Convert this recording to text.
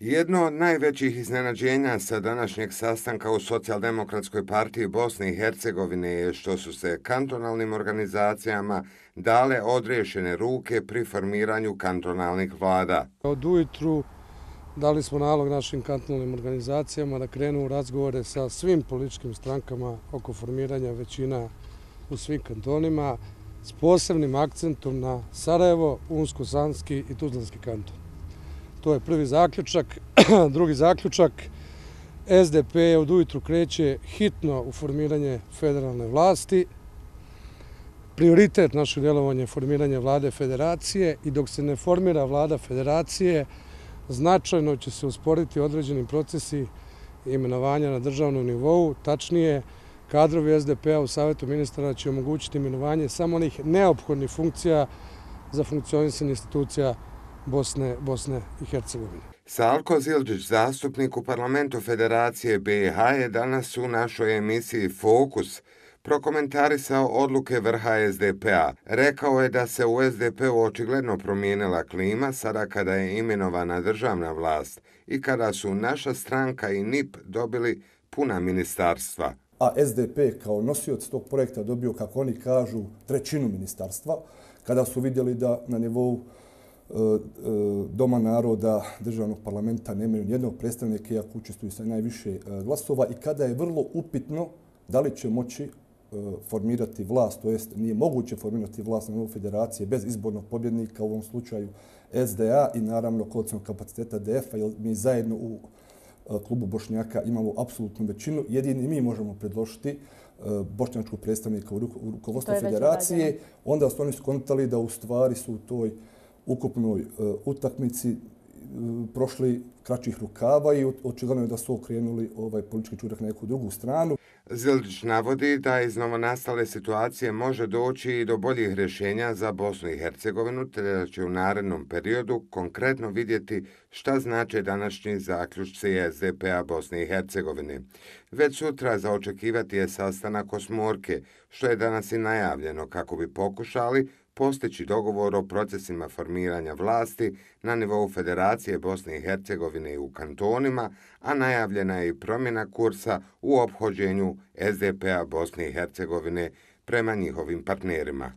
Jedno od najvećih iznenađenja sa današnjeg sastanka u Socijaldemokratskoj partiji Bosne i Hercegovine je što su se kantonalnim organizacijama dale odriješene ruke pri formiranju kantonalnih vlada. Od ujutru dali smo nalog našim kantonalnim organizacijama da krenu u razgovore sa svim političkim strankama oko formiranja većina u svim kantonima s posebnim akcentom na Sarajevo, Unsko-Sanski i Tuzlanski kanton. To je prvi zaključak. Drugi zaključak, SDP od ujutru kreće hitno u formiranje federalne vlasti. Prioritet našeg djelovanja je formiranje vlade federacije i dok se ne formira vlada federacije, značajno će se usporiti određeni procesi imenovanja na državnom nivou. Tačnije, kadrovi SDP-a u Savjetu ministara će omogućiti imenovanje samo onih neophodnih funkcija za funkcionisanje institucija Bosne i Hercegovine. Salko Zildžić, zastupnik u parlamentu Federacije BiH, je danas u našoj emisiji Fokus prokomentarisao odluke vrha SDP-a. Rekao je da se u SDP-u očigledno promijenila klima sada kada je imenovana državna vlast i kada su naša stranka i NIP dobili puna ministarstva. A SDP kao nosioc tog projekta dobio, kako oni kažu, trećinu ministarstva, kada su vidjeli da na nivou Doma naroda državnog parlamenta nemaju nijednog predstavnika, iako učestvuju sa najviše glasova, i kada je vrlo upitno da li će moći formirati vlast, to jest nije moguće formirati vlast na nivou federacije bez izbornog pobjednika, u ovom slučaju SDA i naravno koalicionog kapaciteta DF-a, jer mi zajedno u klubu Bošnjaka imamo apsolutnu većinu. Jedini mi možemo predložiti bošnjačkog predstavnika u rukovodstvu federacije. Onda su oni skontali da u stvari su u toj ukupnoj utakmici prošli kraćih rukava i očigledno je da su okrenuli politički čurak na neku drugu stranu. Zildžić navodi da iz novonastale situacije može doći i do boljih rješenja za Bosnu i Hercegovinu, te da će u narednom periodu konkretno vidjeti šta znače današnji zaključci SDP-a Bosne i Hercegovine. Već sutra za očekivati je sastanak osmorke, što je danas i najavljeno kako bi pokušali postići dogovor o procesima formiranja vlasti na nivou Federacije Bosne i Hercegovine i u kantonima, a najavljena je i promjena kursa u ophođenju SDP-a Bosne i Hercegovine prema njihovim partnerima.